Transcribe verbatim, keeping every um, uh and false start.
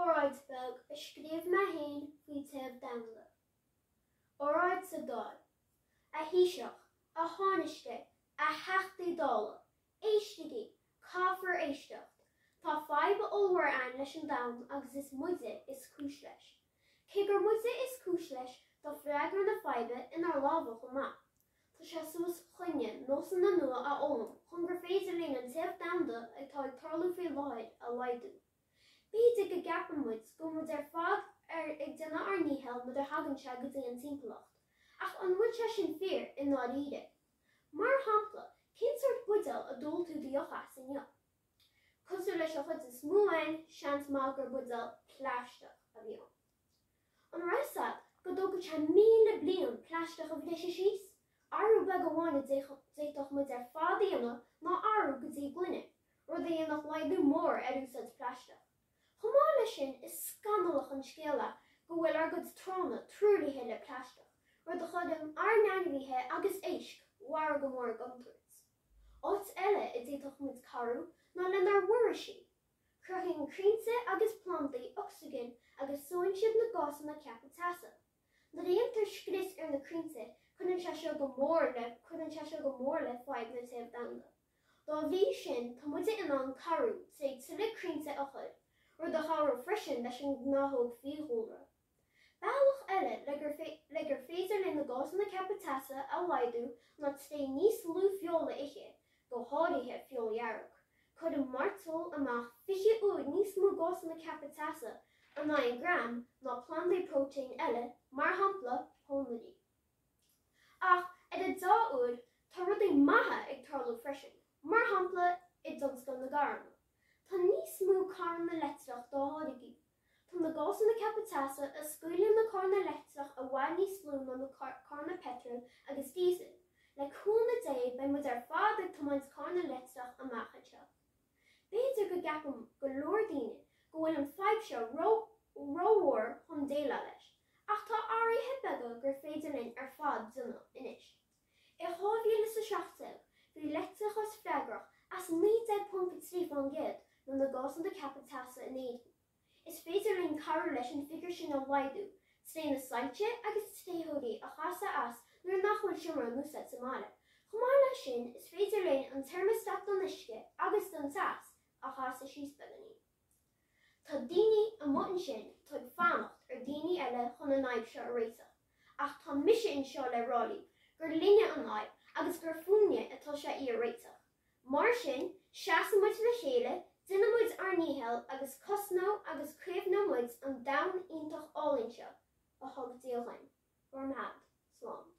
Óráid beag a scríobh mé féin faoi téamh domhanda. Óráid sa Dáil. A Thaoiseach, a Thánaiste, a Theachtaí Dála, éistigí, caithfear éisteacht. Tá fadhb ollmhór ann leis an domhan agus is muide is cúis leis. Cé gur muide is cúis leis tá freagra na faidhbe inár lámha chomh maith. Tá sé suas chugainne nósanna nua a fhoghlaim chun gur féidir linn an téamh domhanda atá ag tarlú faoi láthair a laghdú. B'fhéidir go gceapann muid go bhfuil muid ar fad ar ag déanamh ár ndícheall nuair a thagann sé go dtí an timpeallacht, ach an bhfuil sé sin fíor i ndáiríre? Mar shampla, cén sórt buidéal a d'ól tú do dheoch as inniu? Cosúil leis an chuid is mó againn, seans maith gur buidéal plaisteach a bhí ann. An raibh a fhios agat go dtógann sé míle bliain plaisteach a bhriseadh síos? Athrú beag amháin a d'fhéadfadh muid ar fad a dhéanamh ná athrú go dtí gloine, rud a dhéanfadh laghdú mór ar úsáid plaisteach. Chomh maith leis sin, is scannalach an scéal é go bhfuil ár gcuid tránna truaillithe le plaisteach, rud a chuireann ár n-ainmhithe agus éisc mhara go mór i gcontúirt. Áit eile a d'fhéadfadh muid cabhrú ná lenár bhforaoisí. Cruthaíonn crainnte agus plandaí ocsaigin agus sóann siad na gásanna ceaptha teasa. Nuair a dhéantar scrios ar na crainnte, cuireann sé seo go mór le cuireann sé seo go mór le fadhb na téamh domhanda. Dá bhrí sin, tá muide in ann cabhrú trí tuilleadh crainnte a chur, rud a chabhródh freisin leis an ngnáthóg fiadhúlra. Bealach eile le gur, le gur féidir linn na gásanna ceaptha teasa a laghdú ná trí níos lú feola a ithe, go háirithe feoil dhearg. Cuireann mairteoil amach fiche uair níos mó gásanna ceaptha teasa in aghaidh an gram ná plandaí próitéin eile, mar shampla pónairí. Ach ar an dea-uair, tá rudaí maithe ag tarlú freisin, mar shampla i dtionscal na gcarranna. Tá níos mó carranna leictreach dá tháirgeadh. Tá na gásanna ceaptha teasa a scaoileann na carranna leictreach i bhfad níos lú ná na carranna peitril agus díosail. Le cúnamh Dé beidh muid ar fad ag tiomáint carranna leictreach amach anseo. B'fhéidir go gceapann go leor daoine go bhfuil an fadhb seo rómhór chun déileáil leis, ach tá athruithe beaga gur féidir linn ar fad déanamh anois. I dhá mhíle is a seacht déag, bhí leictreachas freagrach as naoi déag ponc a trí faoin gcéad de na gásanna ceaptha teasa in Éirinn. Is féidir linn cabhrú leis an bhfigiúr sin a laghdú tré na soilse agus téitheoirí a chasadh as nuair nach bhfuil seomra in úsáid sa mbaile. Chomh maith leis sin, is féidir linn an teirmeastat don uisce agus don teas a chasadh síos beagáinín. Tá daoine amuigh ansin atá ag fanacht ar daoine eile chun an fhadhb seo a réiteach, ach tá mise anseo le rá libh gur linne an fhadhb agus gur fúinne atá sé í a réiteach. Mar sin, seasfaidh muid le chéile, déanfaidh muid ár ndícheall agus cosnóidh agus caomhnóidh muid an domhan iontach álainn seo a thug Dia dhúinn. Go raibh maith agat. Slán.